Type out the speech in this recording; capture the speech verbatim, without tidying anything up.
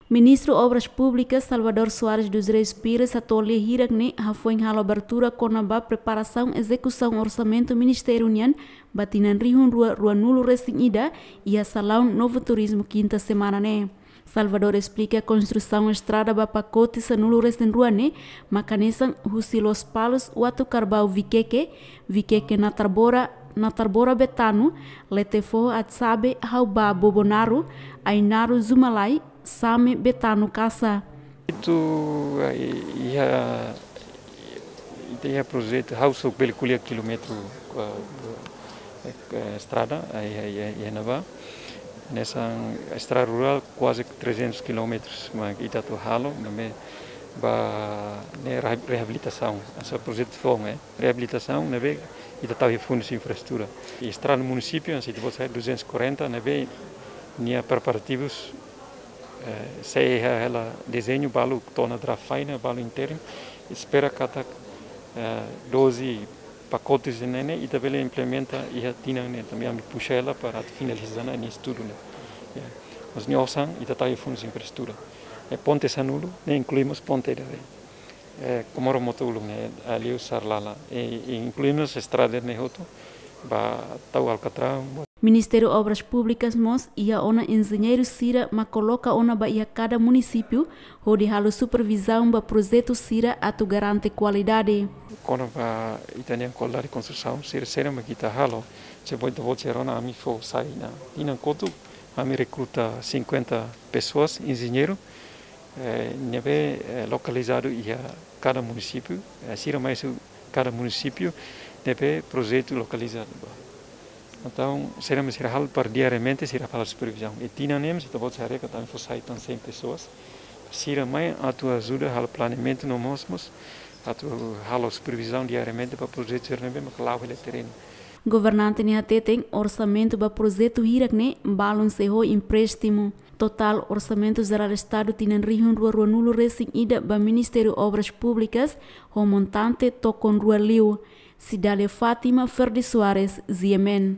Ministru Obras Públikas Salvador Soares dos Reis Pires hato'o lia hirak ne'e hafoin halo abertura kona-ba preparasaun ezekusaun orsamentu ministériu nian ba tinan rihun rua ruanulu resin ida iha salaun Novo Turismo kinta semana ne'e. Salvador esplika konstrusaun estrada ba pakote sanulu resin rua ne'e maka hanesan husi Lospalos Uatucarbau Viqueque, Viqueque Natarbora, Natarbora Betano, Letefoho Atsabe hau ba Bobonaro, Ainaro Zumalai, Same Betano Kasa. Itu, eh, iha, ita iha projetu ha'u só bele ko'alia kilómetru, eh, eh, estrada, eh, iha, iha, iha ne'ebá. Hanesan estrada rurál kuaze trezentus kilómetrus, mas ita atu halo, ne'ebé ba ne'e reha-, reabilitasaun. Hanesan projetu foun, eh, reabilitasaun, ne'ebé ita tau iha fundus infraestrutura. I estrada munisípiu, hanesan ita-boot sa'e duzentus e quarenta, ne'ebé nia preparativus, eh, sei iha hela dezeñu balu to'o ona draft final, balu internu, espera katak, eh, doze pakotes ne'e ne'e ita bele implementa iha tinan ne'e, tanba ami puxa hela para atu finaliza ona nia estudu ne'e. Ya. Mas nia osan, ita tau iha fundus infraestrutura. Eh, ponte sanulu, ne'e inklui mós ponte ida-ne'e. Eh, Comoro Moto Uluk ne'e, Aliu Sarlala. E, e inklui mós estrada ne'e hotu, ba tau Alcatrão, ba Ministériu Obras Públikas mós iha ona enjeñeiru sira mak koloka ona ba iha kada munisípiu, hodi halo supervizaun ba projetu sira atu garante kualidade. Kona-ba ita-nia kualidade konstrusaun, sira, sira mak ita halo, se boi ita-boot sira ona ami fó sai ona. Tinan kotuk, ami rekruta cinquenta pessoas, enjeñeiru, eh, ne'ebé, eh, lokalizadu iha kada munisípiu, eh, sira mai husi kada munisípiu, ne'ebé projetu lokalizadu ba. Entaun, sira mak sira halo para diariamente, sira halo supervizaun. I tinan ne'e, se ita-boot haree katak ami fó sai tan cem pessoas. Sira mai atu ajuda halo planeamentu no mós, mós atu halo supervizaun diariamente ba projetu sira ne'ebé mak la'o hela terrenu. Governante ne'e hateten orsamentu ba projetu hirak ne'e balun sei ho empréstimu. Totál orsamentu jerál Estadu tinan rihun rua ruanulu resin ida ba Ministériu Obras Públikas ho montante tokon rua liu. Cidália Fátima, Ferdi Soares, G M N.